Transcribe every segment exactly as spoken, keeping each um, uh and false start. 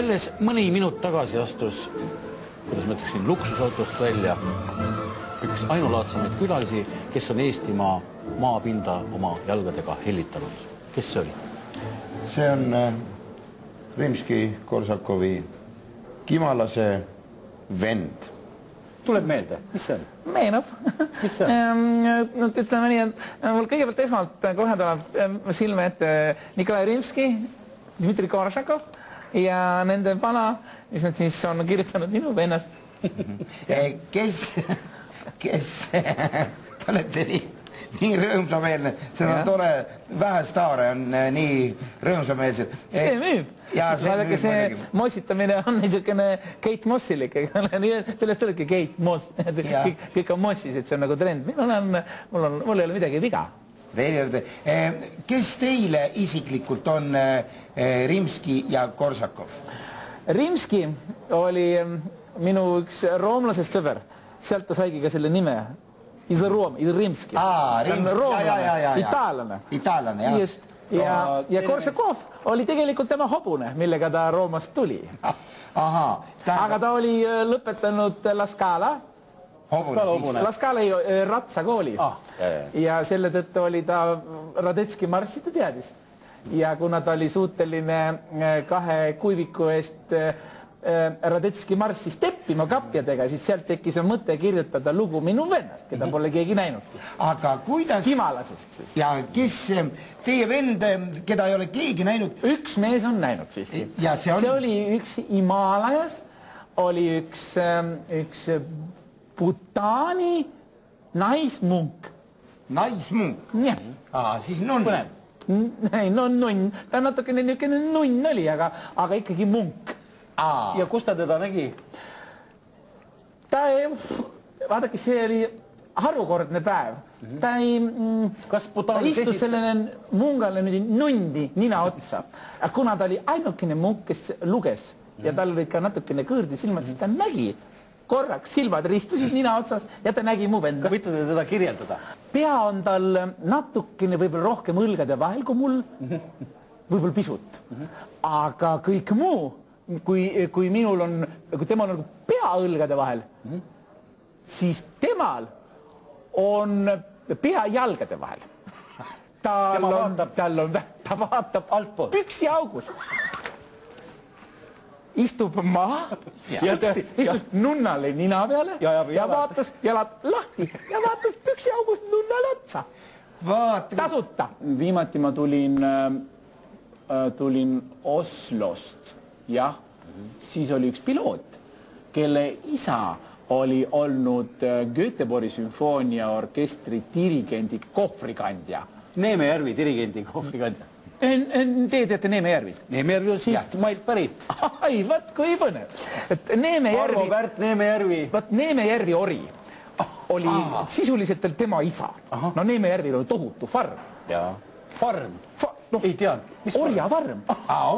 Alles mõni minut tagasi astus, kuidas ma ütleksin, luksusautost välja üks ainulaadsamaid külalisi, kes on Eestimaa maapinda oma jalgadega hellitanud. Kes see oli? See on Rimski-Korsakovi Kimalase vend. Tuleb meelde, mis see on? Meenab. Mis see on? Ütleme nii, et mul kõigepealt esmalt kohe tuleb silme ette Nikolai Rimski, Dmitri Korsakov ja nende pana, mis nad siis on kirjutanud minu vennast. Kes, kes, te olete nii, nii rõõmsameelne, see on tore, vähe staare on nii rõõmsameelsed. See müüb. Vaadake, see mossitamine on niisugune Kate Mossilik, sellest olidki Kate Moss, kõik on Mossis, et see on nagu trend. Mul ei ole midagi viga. Kes teile isiklikult on Rimski ja Korsakov? Rimski oli minu üks roomlasest sõber. Sealt ta saigi ka selle nime. Isa Room, Isa Rimski. Aa, Rimski. Itaallane. Itaallane, jah. Ja Korsakov oli tegelikult tema hobune, millega ta Roomast tuli. Aga ta oli lõpetanud La Scala. La Scala ratsakooli ja selle tõttu oli ta Radetski marssi, ta teadis. Ja kuna ta oli suuteline kahe kuiviku eest Radetski marssi steppima kapjadega, siis sealt tekkis mõte kirjutada lugu minu vennast, keda pole keegi näinud. Aga kuidas... Kimalasest siis. Ja kes teie vend, keda ei ole keegi näinud? Üks mees on näinud siiski. See oli üks Himalajas, oli üks Bhutani naismunk. Naismunk? Jah. Aa, siis nunn. Ei, no nunn. Ta natukene niisugune nunn oli, aga ikkagi munk. Ja kus ta teda nägi? Ta ei... Vaadake, see oli harukordne päev. Ta ei... Ta istus sellele mungale nundi nina otsa. Kuna ta oli ainukene munk, kes luges ja tal olid ka natukene kõõrdi silmad, siis ta nägi korraks silmad ristusid nina otsas ja ta nägi mu venda. Kas võite te teda kirjeldada? Pea on tal natukene võib-olla rohkem õlgade vahel kui mul, võib-olla pisut. Aga kõik muu, kui minul on, kui temal on pea õlgade vahel, siis temal on pea jalgade vahel. Tal on, ta vaatab püksi august. Istub maha ja istus nunnale nina peale ja vaatas jalad lahti ja vaatas püksi august nunnale otsa. Tasuta. Viimati ma tulin tulin Oslost, jah. Siis oli üks piloot, kelle isa oli olnud Göteborgi sümfooniaorkestri dirigendi kohvrikandja. Neeme Järvi dirigendi kohvrikandja. Te teate Neeme Järvi? Neeme Järvi on siit mailt pärit. Ai, vaat kui põnev. Arvo Pärt, Neeme Järvi. Vaat Neeme Järvi ori oli sisuliselt tema isa. No Neeme Järvi oli tohutu farm. Jaa. Farm? Ei tean. Orjafarm.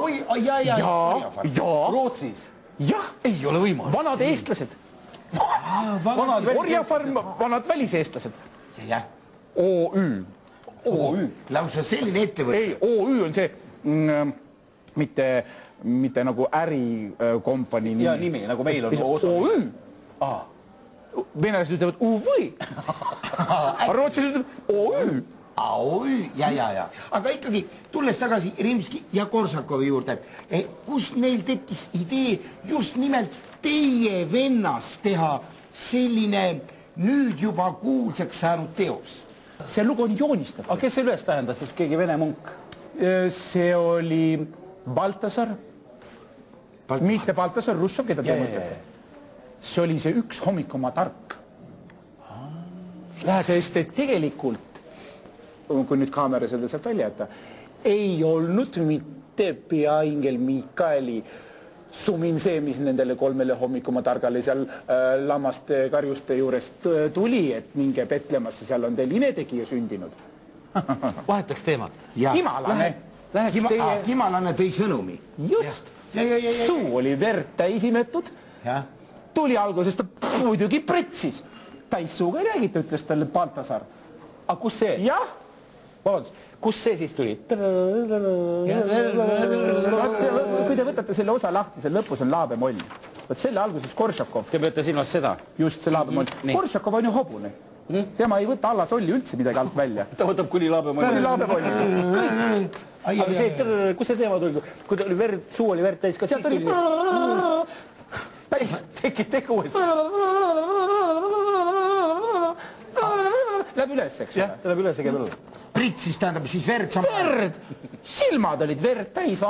Oi, jaa, jaa. Rootsis? Jah. Ei ole võimalik. Vanad eestlased. Orjafarm, vanad väliseestlased. Jah. O Ü. O Ü. Lausa selline ettevõte. Ei, O Ü on see mitte nagu ärikompanii nimi. Ja nimi, nagu meil on osa. O Ü. Venelased ütlevad U V. Rootsis ütlevad O Ü. O Ü, ja, ja, ja. Aga ikkagi, tulles tagasi Rimski ja Korsakovi juurde, kus neil tekkis idee just nimelt teie vennast teha selline nüüd juba kuulsaks saanud teos? See lugu on joonistatud. Aga kes see üles tähendas, siis keegi vene munk? See oli Baltasar. Mitte Baltasar, Russov, keda te mõtlete. See oli see üks hommik oma tark. Sest et tegelikult, kui nüüd kaamera seda saab välja jätta, ei olnud mitte peaingel Mikaeli sumin see, mis nendele kolmele hommikuma targale seal äh, lammaste karjuste juurest tuli, et minge Betlemasse, seal on teil inetegija sündinud. Vahetaks teemat. Kimalane. Kima, teie... ah, Kimalane tõi sõnumi. Just. Ja, ja, ja, ja. Suu oli verd täis imetud. Ja. Tuli alguses ta muidugi pretsis. Täissuuga ei räägita, ütles talle Baltasar. Aga kus see? Jah. Vabandus, kus see siis tuli? Kui te võtate selle osa lahti, selle lõpus on laabemoll. Võt selle alguses Koršakov. Te peate silmas seda? Just see laabemoll. Koršakov on ju hobune. Tema ei võta alla solli üldse midagi alt välja. Ta võtab kuni laabemoll. Kuni laabemoll. Aga see, kus see teema tuli? Kui ta oli verd, suu oli verd täis, kas siis tuli? Täis, teki, teku uuesti. Läheb üles, eks? Jah, ta läheb üles ja käib üle. Prit siis tähendab siis verd sama. Verd! Silmad olid verd täis.